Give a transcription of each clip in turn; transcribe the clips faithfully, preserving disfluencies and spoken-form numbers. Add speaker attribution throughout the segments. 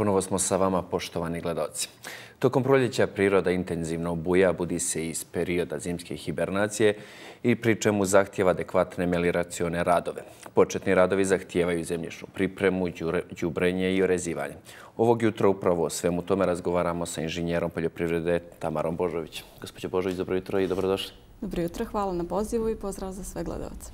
Speaker 1: Ponovo smo sa vama, poštovani gledalci. Tokom proljeća priroda intenzivno buja, budi se iz perioda zimske hibernacije i pri čemu zahtjeva adekvatne melioracione radove. Početni radovi zahtijevaju zemljišnu pripremu, đubrenje i orezivanje. Ovog jutra upravo o svemu tome razgovaramo sa inženjerom poljoprivrede Tamarom Božović. Gospođo Božović, dobro jutro i dobrodošli.
Speaker 2: Dobro jutro, hvala na pozivu i pozdrav za sve gledalce.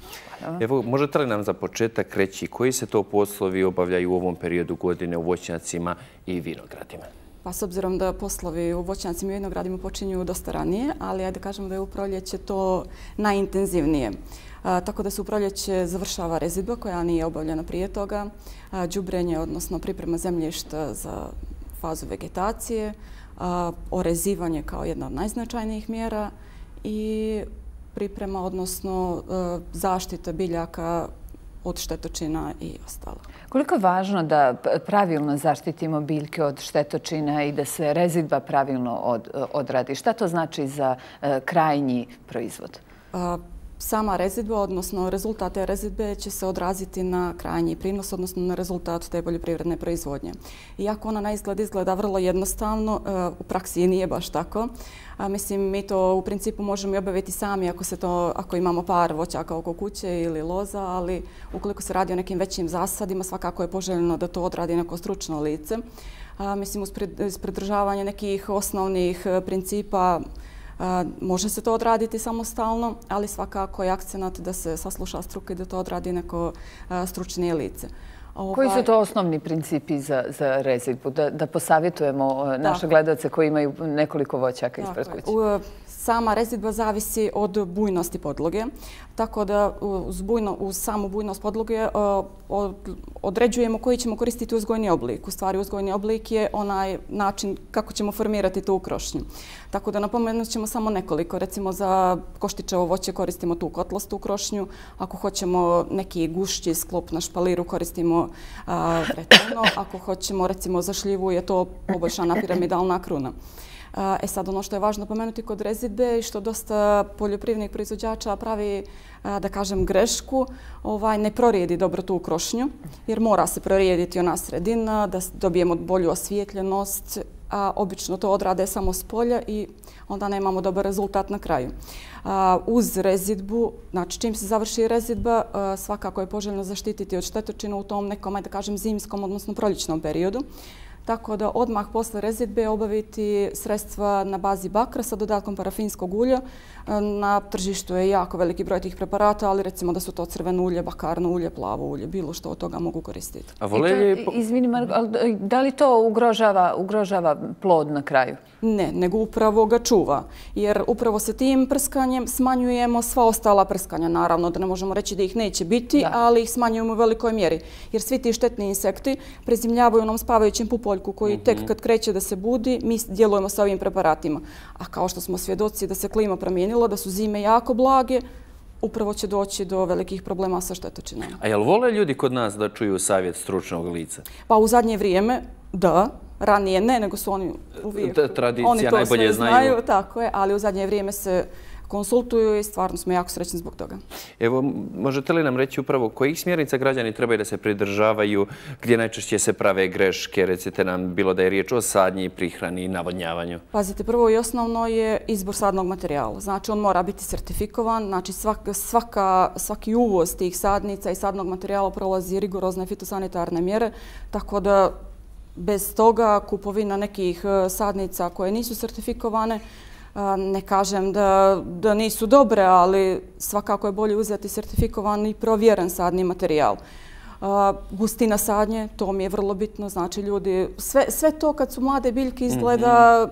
Speaker 1: Evo, možete li nam za početak reći koji se to poslovi obavljaju u ovom periodu godine u voćnjacima i vinogradima?
Speaker 2: Pa s obzirom da poslovi u voćnjacima i vinogradima počinju dosta ranije, ali ajde kažemo da je u proljeće to najintenzivnije. Tako da se u proljeće završava rezidba koja nije obavljena prije toga, đubrenje, odnosno priprema zemljišta za fazu vegetacije, orezivanje kao jedna od najznačajnijih mjera i priprema, odnosno zaštita biljaka od štetočina i ostalo.
Speaker 3: Koliko je važno da pravilno zaštitimo biljke od štetočina i da se rezidba pravilno odradi? Šta to znači za krajnji proizvod?
Speaker 2: Sama rezidba, odnosno rezultat te rezidbe će se odraziti na krajnji prinos, odnosno na rezultat te poljoprivredne proizvodnje. Iako ona na izgled izgleda vrlo jednostavno, u praksi nije baš tako. Mislim, mi to u principu možemo i obaviti sami ako, se to, ako imamo par voćaka oko kuće ili loza, ali ukoliko se radi o nekim većim zasadima, svakako je poželjno da to odradi neko stručno lice. Mislim, uz pridržavanje nekih osnovnih principa može se to odraditi samostalno, ali svakako je akcenat da se sasluša struka i da to odradi neko stručnije lice.
Speaker 3: Koji su to osnovni principi za, za rezidbu? Da, da posavjetujemo naše gledalce koji imaju nekoliko voćaka ispred kuće.
Speaker 2: Sama rezidba zavisi od bujnosti podloge, tako da uz, bujno, uz samu bujnost podloge određujemo koji ćemo koristiti uzgojni oblik. U stvari uzgojni oblik je onaj način kako ćemo formirati tu krošnju. Tako da napomenut ćemo samo nekoliko. Recimo za koštičevo voće koristimo tu kotlastu krošnju. Ako hoćemo neki gušći sklop na špaliru koristimo vreteno. Ako hoćemo recimo za šljivu je to poboljšana piramidalna kruna. E sad, ono što je važno pomenuti kod rezidbe i što dosta poljoprivrednih proizvođača pravi, da kažem, grešku, ovaj, ne prorijedi dobro tu krošnju, jer mora se prorijediti ona sredina, da dobijemo bolju osvijetljenost, a obično to odrade samo s polja i onda nemamo dobar rezultat na kraju. Uz rezidbu, znači čim se završi rezidba, svakako je poželjno zaštititi od štetočina u tom nekom, da kažem, zimskom, odnosno proljećnom periodu. Tako da odmah posle rezidbe obaviti sredstva na bazi bakra sa dodatkom parafinskog ulja. Na tržištu je jako veliki broj tih preparata, ali recimo da su to crveno ulje, bakarno ulje, plavo ulje, bilo što od toga mogu koristiti.
Speaker 3: A volje... Izvini, da li to ugrožava, ugrožava plod na kraju?
Speaker 2: Ne, nego upravo ga čuva. Jer upravo se tim prskanjem smanjujemo sva ostala prskanja. Naravno da ne možemo reći da ih neće biti, da. Ali ih smanjujemo u velikoj mjeri. Jer svi ti štetni insekti prezimljavaju onom spavajućem pupoljku koji tek kad kreće da se budi, mi djelujemo sa ovim preparatima. A kao što smo svjedoci da se klima promijenila, da su zime jako blage, upravo će doći do velikih problema sa štetočinama.
Speaker 1: A jel vole ljudi kod nas da čuju savjet stručnog lica?
Speaker 2: Pa u zadnje vrijeme, da. Ranije ne, nego su oni uvijek...
Speaker 1: Tradicija najbolje znaju.
Speaker 2: Tako je, ali u zadnje vrijeme se konsultuju i stvarno smo jako srećni zbog toga.
Speaker 1: Evo, možete li nam reći upravo kojih smjernica građani trebaju da se pridržavaju, gdje najčešće se prave greške, recite nam bilo da je riječ o sadnji, prihrani i navodnjavanju?
Speaker 2: Pazite, prvo i osnovno je izbor sadnog materijala. Znači, on mora biti sertifikovan, znači svaka, svaka, svaki uvoz tih sadnica i sadnog materijala prolazi rigorozne fitosanitarne mjere, tako da bez toga kupovina nekih sadnica koje nisu sertifikovane, ne kažem da, da nisu dobre, ali svakako je bolje uzeti sertifikovan i provjeren sadni materijal. Gustina sadnje, to mi je vrlo bitno, znači ljudi, sve, sve to kad su mlade biljke izgleda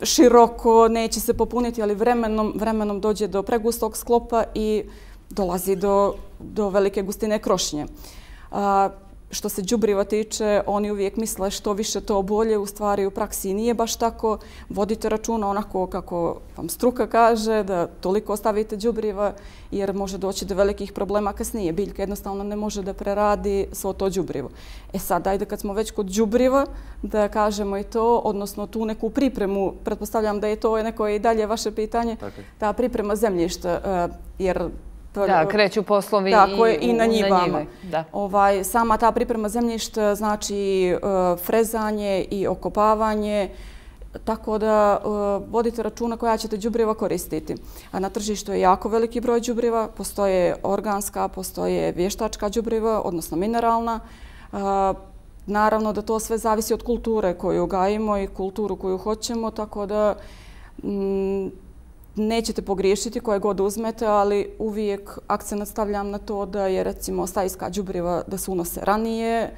Speaker 2: široko, neće se popuniti, ali vremenom, vremenom dođe do pregustog sklopa i dolazi do, do velike gustine krošnje. Što se đubriva tiče, oni uvijek misle što više to bolje, u stvari u praksi nije baš tako. Vodite računa onako kako vam struka kaže, da toliko ostavite đubriva jer može doći do velikih problema kasnije. Biljka jednostavno ne može da preradi svo to đubrivo. E sad, ajde kad smo već kod đubriva, da kažemo i to, odnosno tu neku pripremu, pretpostavljam da je to neko i dalje vaše pitanje, ta priprema zemljišta, jer
Speaker 3: Da, kreću poslovi
Speaker 2: i na njivama.
Speaker 3: Ovaj,
Speaker 2: sama ta priprema zemljišta znači frezanje i okopavanje, tako da vodite računa koja ćete đubriva koristiti. Na tržištu je jako veliki broj đubriva, postoje organska, postoje vještačka đubriva, odnosno mineralna. Naravno da to sve zavisi od kulture koju gajimo i kulturu koju hoćemo, tako da nećete pogriješiti koje god uzmete, ali uvijek akcent stavljam na to da je recimo stajska đubriva da se unose ranije,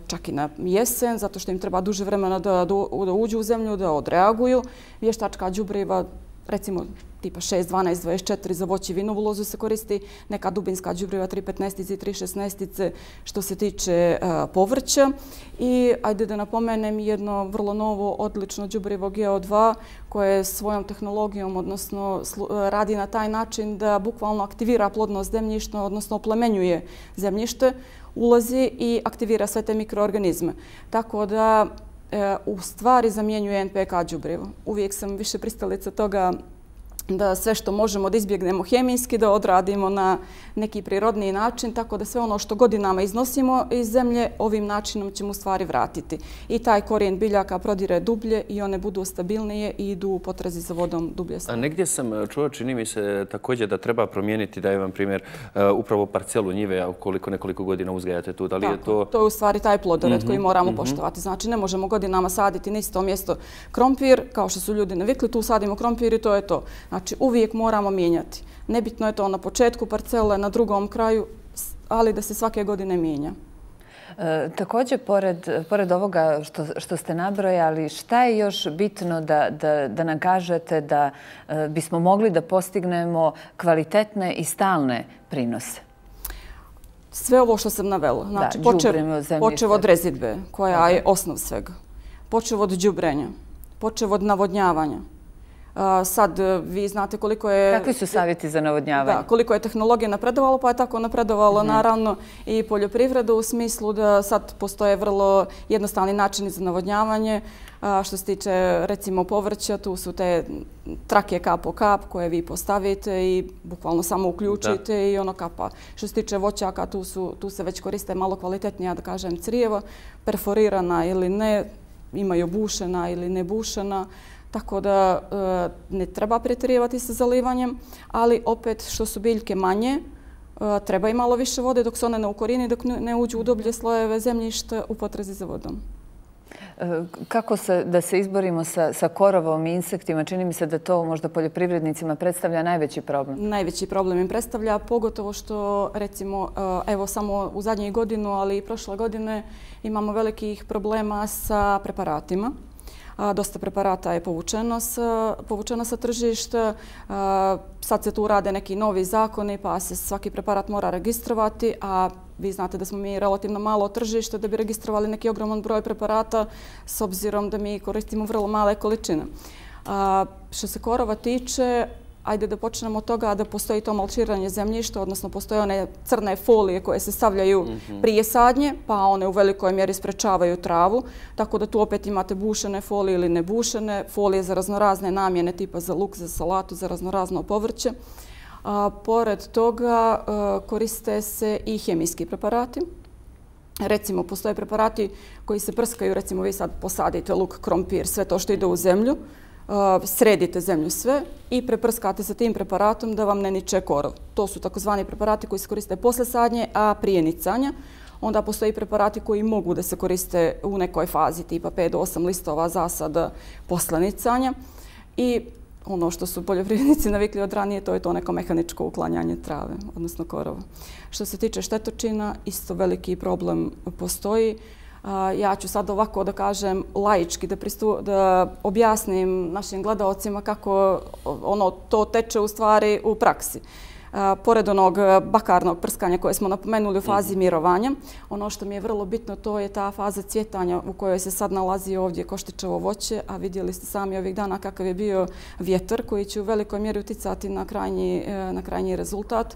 Speaker 2: čak i na jesen, zato što im treba duže vremena da uđu u zemlju, da odreaguju. Vještačka đubriva, recimo tipa šest, dvanaest, dvadeset četiri za voće i vinovu lozu se koristi, neka dubinska đubriva tri petnaestice i tri šesnaestice što se tiče povrća. I ajde da napomenem jedno vrlo novo, odlično đubrivo G O dva koje svojom tehnologijom, odnosno radi na taj način da bukvalno aktivira plodnost zemljišta, odnosno oplemenjuje zemljište, ulazi i aktivira sve te mikroorganizme. Tako da u stvari zamjenjuje N P K đubrivo. Uvijek sam više pristalica toga da sve što možemo da izbjegnemo hemijski, da odradimo na neki prirodniji način, tako da sve ono što godinama iznosimo iz zemlje, ovim načinom ćemo u stvari vratiti. I taj korijen biljaka prodire dublje i one budu stabilnije i idu u potrazi za vodom dublje.
Speaker 1: A negdje sam čuo, čini mi se također da treba promijeniti, da je vam primjer, upravo parcelu njive, ukoliko nekoliko godina uzgajate tu. Da li je to...
Speaker 2: To je u stvari taj plodored koji moramo poštovati. Znači, ne možemo godinama saditi na isto mjesto krompir, kao što su ljudi navikli, tu sadimo krompir i to je to. Znači, uvijek moramo mijenjati. Nebitno je to na početku parcele, na drugom kraju, ali da se svake godine mijenja.
Speaker 3: E, također, pored, pored ovoga što, što ste nabrojali, šta je još bitno da, da, da nam kažete da e, bismo mogli da postignemo kvalitetne i stalne prinose?
Speaker 2: Sve ovo što sam navela. Znači,
Speaker 3: da,
Speaker 2: počev, počev od rezidbe, koja okay. je osnov svega. Počev od đubrenja. Počev od navodnjavanja. Sad vi znate koliko je...
Speaker 3: Kakvi su savjeti za navodnjavanje?
Speaker 2: Da, koliko je tehnologija napredovalo, pa je tako napredovalo naravno i poljoprivreda u smislu da sad postoje vrlo jednostavni načini za navodnjavanje. Što se tiče recimo povrća, tu su te trake kap po kap koje vi postavite i bukvalno samo uključite i ono kapa. Što se tiče voćaka, tu, su, tu se već koriste malo kvalitetnija, da kažem, crijeva, perforirana ili ne, imaju bušena ili ne bušena. Tako da ne treba pretjerivati sa zalivanjem, ali opet što su biljke manje, treba i malo više vode dok se one ne ukorijene, dok ne uđu u dublje slojeve zemljišta u potrazi za vodom.
Speaker 3: Kako se, da se izborimo sa, sa korovom i insektima? Čini mi se da to možda poljoprivrednicima predstavlja najveći problem.
Speaker 2: Najveći problem im predstavlja, pogotovo što recimo evo samo u zadnjih godinu, ali i prošle godine imamo velikih problema sa preparatima. Dosta preparata je povučeno sa, povučeno sa tržišta. Sad se tu rade neki novi zakoni pa se svaki preparat mora registrovati, a vi znate da smo mi relativno malo tržište da bi registrovali neki ogroman broj preparata s obzirom da mi koristimo vrlo male količine. Što se korova tiče, ajde da počnemo od toga da postoji to malčiranje zemljišta, odnosno postoje one crne folije koje se stavljaju prije sadnje, pa one u velikoj mjeri sprečavaju travu, tako da tu opet imate bušene folije ili nebušene, folije za raznorazne namjene tipa za luk, za salatu, za raznorazno povrće. A, pored toga a, koriste se i hemijski preparati. Recimo, postoje preparati koji se prskaju, recimo vi sad posadite luk, krompir, sve to što ide u zemlju, sredite zemlju sve i preprskate sa tim preparatom da vam ne niče korov. To su takozvani preparati koji se koriste posle sadnje, a prije nicanja. Onda postoji preparati koji mogu da se koriste u nekoj fazi, tipa pet do osam listova zasada posle nicanja. I ono što su poljoprivrednici navikli od ranije, to je to neko mehaničko uklanjanje trave, odnosno korova. Što se tiče štetočina, isto veliki problem postoji. Ja ću sad ovako da kažem laički, da, pristu, da objasnim našim gledalcima kako ono to teče u stvari u praksi. Pored onog bakarnog prskanja koje smo napomenuli u fazi mirovanja, ono što mi je vrlo bitno to je ta faza cvjetanja u kojoj se sad nalazi ovdje koštičevo voće, a vidjeli ste sami ovih dana kakav je bio vjetar koji će u velikoj mjeri uticati na krajnji, na krajnji rezultat.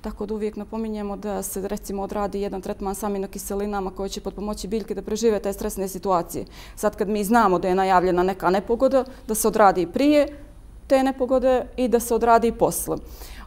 Speaker 2: Tako da uvijek napominjemo da se recimo odradi jedan tretman s aminokiselinama koji će potpomoći biljke da prežive te stresne situacije. Sad kad mi znamo da je najavljena neka nepogoda, da se odradi prije te nepogode i da se odradi posle.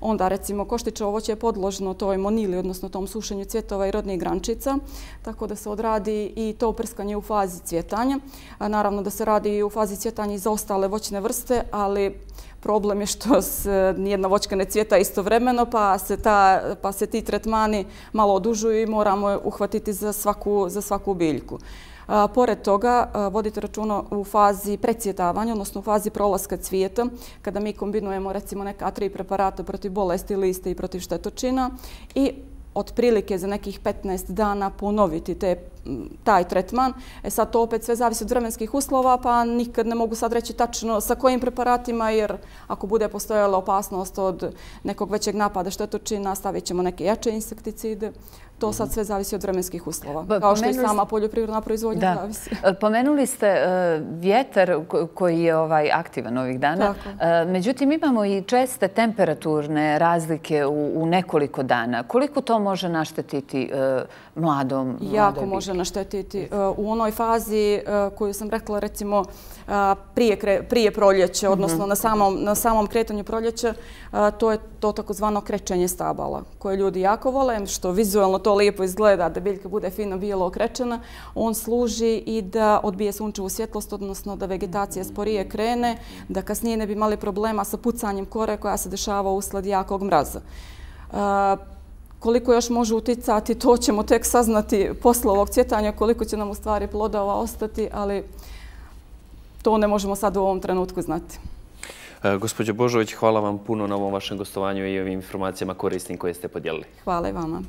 Speaker 2: Onda recimo koštićevo voće je podložno toj monili, odnosno tom sušenju cvjetova i rodnih grančica, tako da se odradi i to prskanje u fazi cvjetanja. Naravno da se radi i u fazi cvjetanja i za ostale voćne vrste, ali problem je što se nijedna voćka ne cvjeta istovremeno, pa se, ta, pa se ti tretmani malo odužuju i moramo uhvatiti za svaku, za svaku biljku. A, pored toga, a, vodite računa u fazi precvjetavanja, odnosno u fazi prolaska cvijeta, kada mi kombinujemo recimo neka tri preparata protiv bolesti liste i protiv štetočina i otprilike za nekih petnaest dana ponoviti te, taj tretman. E sad to opet sve zavisi od vremenskih uslova, pa nikad ne mogu sad reći tačno sa kojim preparatima, jer ako bude postojala opasnost od nekog većeg napada štetočina, stavit ćemo neke jače insekticide. To sad sve zavisi od vremenskih uslova, kao što i sama poljoprivredna proizvodnja zavisi.
Speaker 3: Pomenuli ste vjetar koji je ovaj aktivan ovih dana. Međutim, imamo i česte temperaturne razlike u nekoliko dana. Koliko to može naštetiti mladom?
Speaker 2: Jako može naštetiti. U onoj fazi koju sam rekla, recimo, prije proljeća, odnosno na samom kretanju proljeća, to je to takozvano krečenje stabala, koje ljudi jako vole, što vizualno to lijepo izgleda, da biljka bude fino bijelo okrečena. On služi i da odbije sunčevu svjetlost, odnosno da vegetacija sporije krene, da kasnije ne bi imali problema sa pucanjem kore koja se dešava usled jakog mraza. Koliko još može uticati, to ćemo tek saznati posle ovog cvjetanja, koliko će nam u stvari plodova ostati, ali to ne možemo sad u ovom trenutku znati.
Speaker 1: Gospođo Božović, hvala vam puno na ovom vašem gostovanju i ovim informacijama korisnim koje ste podijelili.
Speaker 2: Hvala i vama.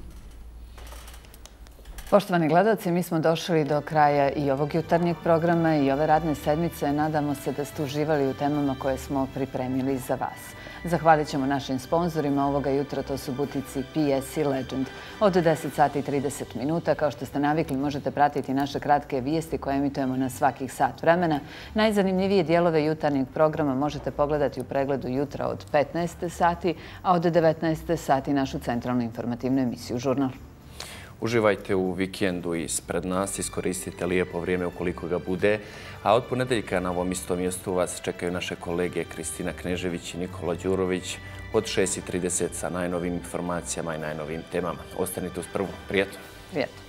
Speaker 3: Poštovani gledalci, mi smo došli do kraja i ovog jutarnjeg programa i ove radne sedmice. Nadamo se da ste uživali u temama koje smo pripremili za vas. Zahvalit ćemo našim sponzorima ovoga jutra, to su butici P S i Legend. Od deset sati i trideset minuta, kao što ste navikli, možete pratiti naše kratke vijesti koje emitujemo na svakih sat vremena. Najzanimljivije dijelove jutarnjeg programa možete pogledati u pregledu jutra od petnaest sati, a od devetnaest sati našu centralnu informativnu emisiju Žurnal.
Speaker 1: Uživajte u vikendu ispred nas, iskoristite lijepo vrijeme ukoliko ga bude, a od ponedeljka na ovom istom mjestu vas čekaju naše kolege Kristina Knežević i Nikola Đurović od šest i trideset sa najnovim informacijama i najnovim temama. Ostanite uz prvu. Prijetno!
Speaker 3: Prijetno!